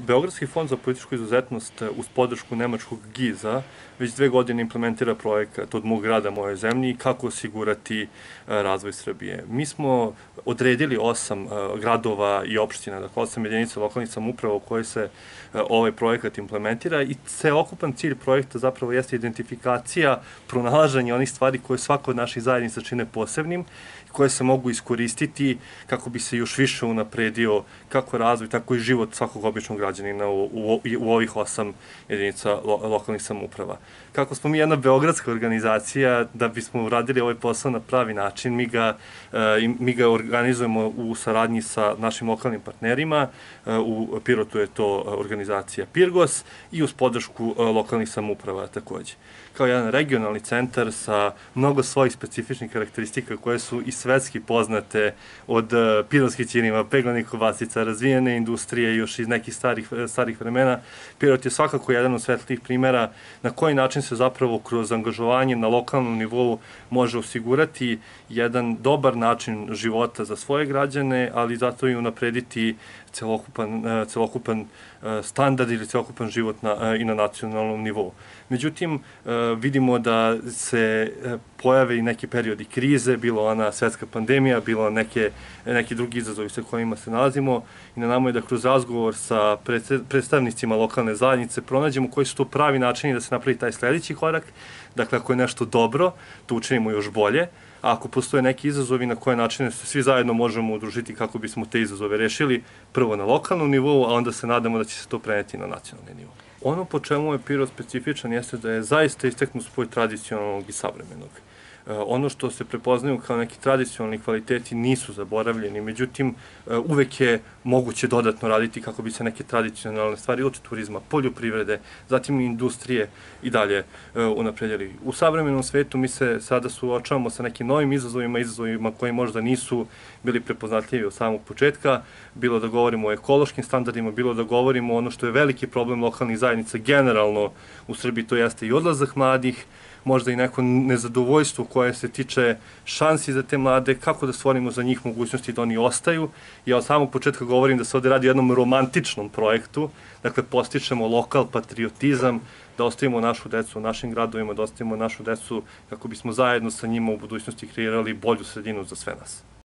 Beogradski fond za političku izuzetnost uz podršku nemačkog GIZ-a već 2 godine implementira projekat Od mog grada moje zemlji kako osigurati razvoj Srbije. Mi smo odredili 8 gradova i opština, dakle 8 jedinica lokalnih samouprava u kojoj se ovaj projekat implementira i celokupan cilj projekta zapravo jeste identifikacija, pronalaženje onih stvari koje svako od naših zajednica čine posebnim, koje se mogu iskoristiti kako bi se još više unapredio kako razvoj, tako i život svakog običnog građanina u ovih 8 jedinica lokalnih samouprava. Kako smo mi jedna beogradska organizacija, da bismo uradili ovaj posao na pravi način, mi ga organizujemo u saradnji sa našim lokalnim partnerima, u Pirotu je to organizacija Pirgos i uz podršku lokalnih samouprava takođe. Kao jedan regionalni centar sa mnogo svojih specifičnih karakteristika koje su i svetski poznate od pirotskih ćirima, peglanih kobasica, razvijene industrije još iz nekih starih vremena. Pirot je svakako jedan od svetlih primera na koji način se zapravo kroz angažovanje na lokalnom nivou može osigurati jedan dobar način života za svoje građane, ali zato i unaprediti celokupan standard ili celokupan život i na nacionalnom nivou. Međutim, vidimo da se pojave i neki periodi krize, bilo ona svetska pandemija, bilo neki drugi izazovi sa kojima se nalazimo i na nama je da kroz razgovor sa predstavnicima lokalne zajednice pronađemo koji su to pravi načini da se napravi taj sledeći korak. Dakle, ako je nešto dobro, to učinimo još bolje, a ako postoje neki izazovi na koje načine se svi zajedno možemo udružiti kako bismo te izazove rešili, prvo na lokalnom nivou, a onda se nadamo da će se to preneti na nacionalni nivou. Ono po čemu je Pirot specifičan jeste da je zaista isteknut spoj tradicionalnog i savremenog. Ono što se prepoznaju kao neki tradicionalni kvaliteti nisu zaboravljeni, međutim, uvek je moguće dodatno raditi kako bi se neke tradicionalne stvari od turizma, poljoprivrede, zatim industrije i dalje unapredili. U savremenom svetu mi se sada suočavamo sa nekim novim izazovima koji možda nisu bili prepoznatljivi od samog početka, bilo da govorimo o ekološkim standardima, bilo da govorimo o ono što je veliki problem lokalnih zajednica generalno u Srbiji, to jeste i odlazak mladih, možda i neko nezadovoljstvo koje se tiče šansi za te mlade, kako da stvorimo za njih mogućnosti da oni ostaju. Ja od samog početka govorim da se ovde radi o jednom romantičnom projektu, dakle postičemo lokal patriotizam, da ostavimo našu decu u našim gradovima, da ostavimo našu decu kako bismo zajedno sa njima u budućnosti kreirali bolju sredinu za sve nas.